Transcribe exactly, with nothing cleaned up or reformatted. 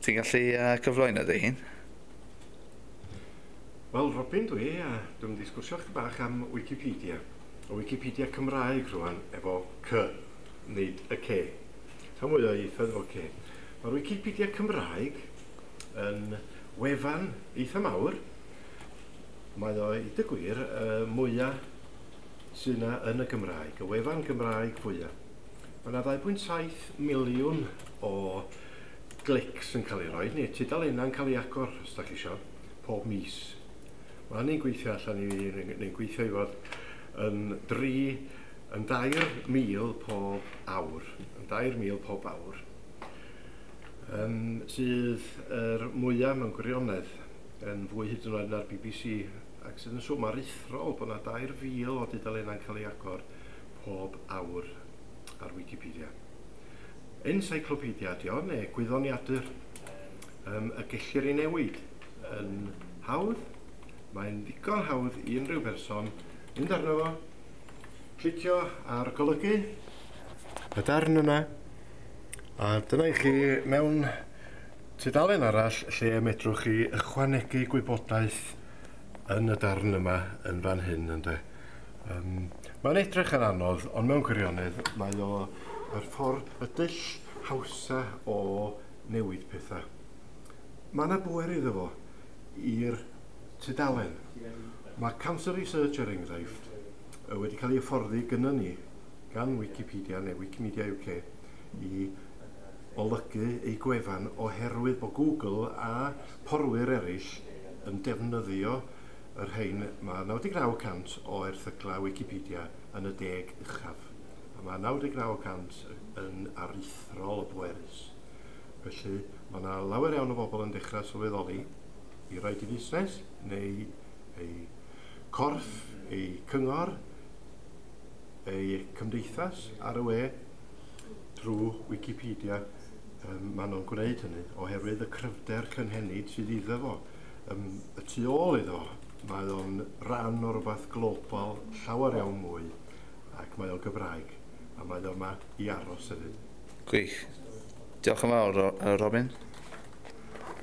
Ti'n gallu uh, cyflwyno dy hun? Wel, Robin dwi, a dwi'n mynd i sgwrsio chdi bach am Wikipedia. O Wikipedia Cymraeg rwan, efo C, nid y C. Rhan mwy o ieithoedd efo C. Mae'r Wikipedia Cymraeg yn wefan eitha mawr. Mae o, i dy gwir, y mwyaf sydd yna yn y Gymraeg, y wefan Gymraeg fwyaf. Mae yna ddau bwynt saith miliwn o glics yn cael ei roi, neu tudalennau'n cael ei agor, os da chi isio, pob mis. Mae hynny'n gweithio allan i fi, neu'n gweithio i fod yn dri, yn dair mil pob awr. Yn dair mil pob awr. Um, sydd yr mwyaf mewn gwirionedd yn fwy hyd yn oed na'r B B C, ac sydd yn swm aruthrol bod yna dair fil o dudalennau'n cael ei agor pob awr ar Wikipedia. Encyclopedia ydi o, neu gwyddoniadur, um, y gellir ei newid yn hawdd. Mae'n ddigon hawdd i unrhyw berson mynd arno fo, clicio ar golygu y darn yna, a dyna i chi mewn tudalen arall lle medrwch chi ychwanegu gwybodaeth yn y darn yma yn fan hyn, ynde. Um, mae'n edrych yn anodd, ond mewn gwirionedd mae o yr ffordd, y dull hawsa o newid pethau. Mae yna bwer iddo fo i'r tudalen. Mae Cancer Research, er enghraifft, wedi cael ei hyfforddi gynnon ni gan Wikipedia neu Wikimedia U K i olygu ei gwefan oherwydd bod Google a porwyr eraill yn defnyddio yr rhain. Mae naw deg naw cant o erthyglau Wikipedia yn y deg uchaf, a mae naw deg naw cant yn aruthrol o bwerus. Felly mae yna lawer iawn o bobl yn dechrau sylweddoli i roed i fusnes neu ei corff, ei cyngor, ei cymdeithas ar y we drwy Wikipedia. Um, maen nhw'n gwneud hynny oherwydd y cryfder cynhenid sydd iddo fo. Um, y tu ôl iddo, mae o'n rhan o rywbeth global llawer iawn mwy, ac mae o'n Gymraeg, a mae o yma i aros hefyd. Gwych. Diolch yn fawr, Robin.